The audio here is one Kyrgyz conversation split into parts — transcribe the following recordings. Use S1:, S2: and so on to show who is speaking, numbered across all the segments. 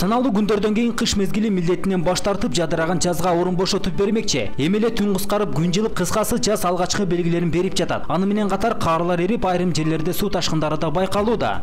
S1: Саналуу күндөрдөн кийин кыш мезгили милдетинен баш тартып жадыраган жазга орун бошотуп бермекчи. Эми эле түн кыскарып, күн жылып, кыскасы жаз алгачкы белгилерин берип жатат. Аны менен катар карлар эрип, айрым жерлерде суу ташкындары да байкалууда.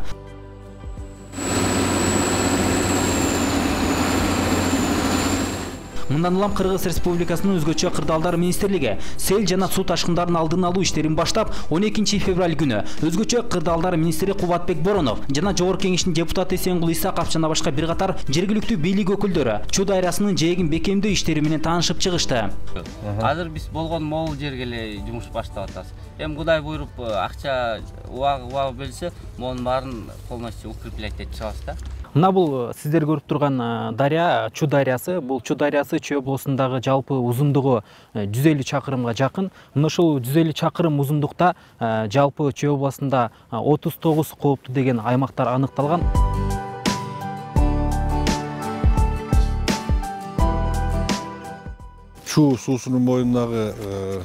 S1: Мындан улам Кыргыз Республикасынын өзгөчө кырдаалдар министрлиги сел жана суу ташкындарын алдын алуу иштерин баштап, 12 февраль күнү өзгөчө кырдаалдар министри Кубатбек Боронов жана Жогорку Кеңештин депутаты Эсенгул Исаков жана башка бир катар жергиликтүү бийлик өкүлдөрү Чуу дарыясынын жээгин бекемдөө иштери менен таанышып чыгышты.
S2: Азыр биз болгон могул жерге эле жумуш баштап атабыз. Эми Кудай буйруп акча убагы берсе, монун баарын полностью укреплять этип чыгабыз да.
S3: Мына бул сиздер көрүп турган дарыя Чуу дарыясы. Бул Чуу дарыясы Чүй облусундагы жалпы узундугу 150 чакырымга жакын. Мына ушул 150 чакырым узундукта жалпы Чүй областында 39 кооптуу деген аймактар аныкталган.
S4: Чуу суусунун боюндагы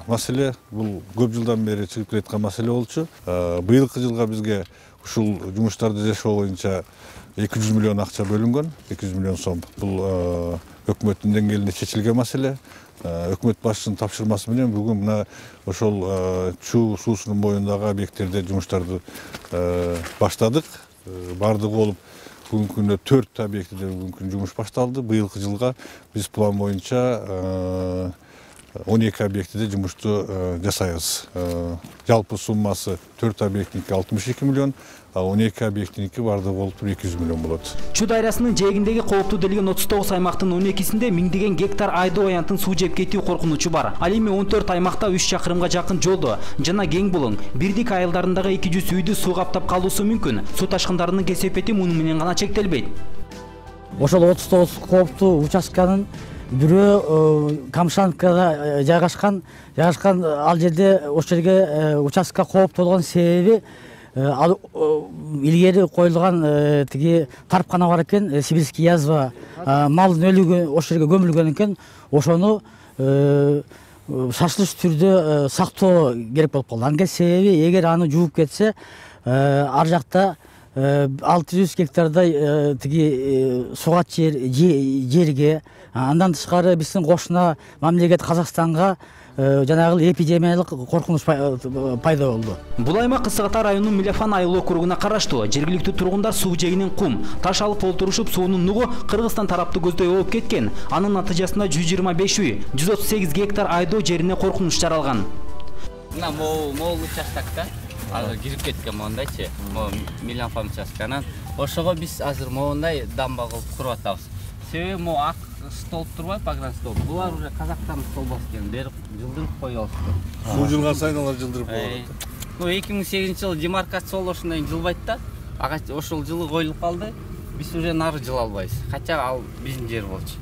S4: маселе бул көп жылдан бери чыгып келаткан маселе болчу. Быйылкы жылга бизге ушул жумуштарды жашоо боюнча 200 миллион акча бөлүнгөн, 200 миллион сом. Бул өкмөттүн деңгээлинде чечилген маселе. Өкмөт башчысынын тапшырмасы менен бүгүн мына ошол Чуу суусунун боюндагы объекттерде жумуштарды баштадык. Бардыгы болуп бүгүнкү күндө 4 объектиде бүгүнкү күн жумуш башталды. Быйылкы жылга биз план боюнча 12 объектиде жумушту жасайбыз. Жалпы суммасы 4 объектиники 62 миллион, а 12 объектиники бардыгы болуп 200 миллион болот.
S1: Чуу дарыясынын жээгиндеги кооптуу делген 39 аймактын 12-синде миңдеген гектар айдоо аянтын суу жеп кетүү коркунучу бар. Ал эми 14 аймакта 3 чакырымга жакын жолдо жана кең булуң, бирдик айылдарындагы 200 үйдү суу каптап калуусу мүмкүн. Суу ташкындарынын кесепети муну менен гана чектелбейт.
S5: Ошол 39 кооптуу участканын бирөө Камшановкада жайгашкан ал жерде ошол жерге участка кооптуу болгон себеби ал илгери коюлган тиги тарпкана бар экен, сибирский язва, малдын өлүгү ошол жерге көмүлгөн экен. Ошону шашылыш түрдө сактоо керек болуп калды. Анын себеби эгер аны жууп кетсе, ар жакта 600 гектардай тиги сугат жерге, андан тышкары биздин кошуна мамлекет Казакстанга жанагы эпидемиялык коркунуч пайда болду.
S1: Бул аймак Кысыката районунун Милефан айыл округуна караштуу. Жергиликтүү тургундар суу жээгинен кум, таш алып олтурушуп, суунун нугу Кыргызстан тарапты көздөй ооп кеткен. Анын натыйжасында 125 үй, 138 гектар айдоо жерине коркунуч жаралган.
S2: Мына могул участокто азыр кирип кеткен мондайчы, Милефан участканан. Ошого биз азыр моундай дамба кылып куруп атабыз. Себеби могу ак столб турбайбы, погран столб. Булар уже Казактан столбос экен, бери жылдырып коюп алышты.
S4: Суу жылган сайын алар жылдырып коет.
S2: 2008-жылы демаркация болушундан кийин жылбайт да. Ошол жылы коюлуп калды. Биз уже нары жыла албайбыз. Кача ал биздин жер болчу.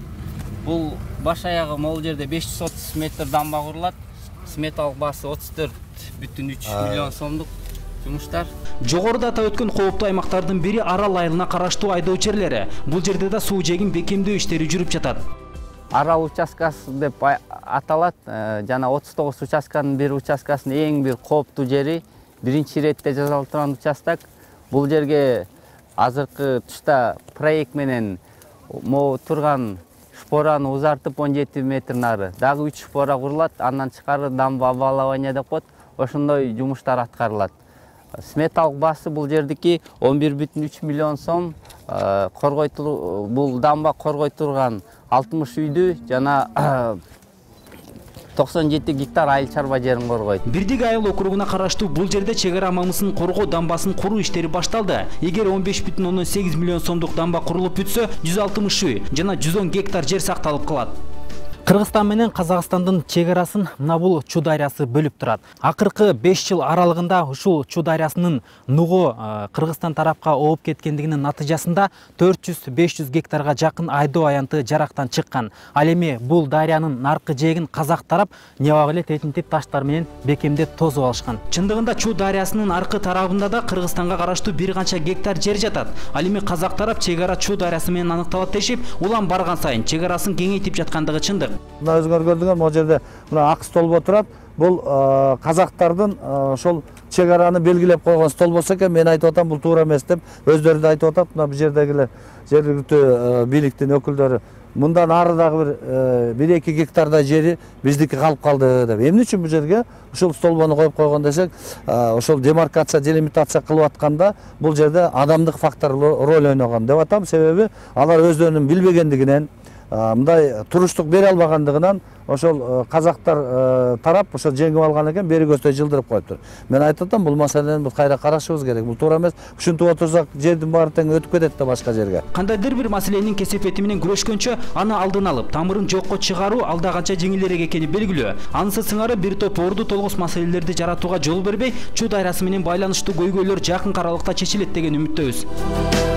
S2: Бул баш аягы могул жерде 530 метр дамба курулат. Сметалык баасы 34,3 миллион сомдук жумуштар.
S1: Жогоруда атап өткөн кооптуу аймактардын бири Арал айылына караштуу айдоо жерлери. Бул жерде да суу жээгин бекемдөө иштери жүрүп жатат.
S2: Арал участкасы деп аталат. Жана 39 участканын бир участкасынын эң бир кооптуу жери, биринчи иретте жасалып турган участок. Бул жерге азыркы тушта проект менен могу турган шпораны узартып 17 метр нары дагы 3 шпора курулат. Андан тышкары дамба обвалование деп коет. Ошондой жумуштар аткарылат. Сметалык баасы бул жердики 11,3 миллион сом. Бул дамба коргой турган 60 үйдү жана 97 гектар айыл чарба жерин коргойт.
S1: Бирдик айыл округуна караштуу бул жерде чек ара мамысын коргоо дамбасын куруу иштери башталды. Эгер 15,8 миллион сомдук дамба курулуп бүтсө, 160 үй жана 110 гектар жер сакталып калат.
S3: Кыргызстан менен Казакстандын чек арасын мына бул Чуу дарыясы бөлүп турат. Акыркы 5 жыл аралыгында ушул Чуу дарыясынын нугу Кыргызстан тарапка ооп кеткендигинин натыйжасында 400-500 гектарга жакын айдоо аянты жарактан чыккан. Ал эми бул дарыянын наркы жээгин казак тарап небак эле тетинтип таштар менен бекемдеп тосуп алышкан.
S1: Чындыгында Чуу дарыясынын аркы тарабында да Кыргызстанга караштуу бир канча гектар жер жатат. Ал эми казак тарап чек ара Чуу дарыясы менен аныкталат дешип, улам барган сайын чек арасын кеңейтип жаткандыгы чындык.
S6: Мына өзүңөр көрдүңөр, могул жерде мына ак столбо турат. Бул казактардын ошол чек араны белгилеп койгон стол болсо экен, мен айтып атам бул туура эмес деп өздөрү да айтып атат. Мына бул жердегилер жергиликтүү бийликтин өкүлдөрү мындан ары дагы 1-2 гектардай жери биздики калып калды деп. Эмне үчүн бул жерге ушул столбону коюп койгон десек, ошол демаркация, делимитация кылып атканда бул жерде адамдык фактор роль ойногон деп атам. Себеби алар өздөрүнүн билбегендигинен, мындай туруштук бере албагандыгынан ошол казактар тарап ошо жеңип алган экен, бери көздөй жылдырып коюптур. Мен айтып атам, бул маселени биз кайра карашыбыз керек. Бул туура эмес. Ушинтип отурсак, жердин баары тең өтүп кетет да башка жерге.
S1: Кандайдыр бир маселенин кесепети менен күрөшкөнчө, аны алдын алып, тамырын жокко чыгаруу алда канча жеңилирээк экени белгилүү. Анысы сыңары бир топ орду толгус маселелерди жаратууга жол бербей, Чу дайрасы менен байланыштуу көйгөйлөр жакын аралыкта чечилет деген үмүттөбүз.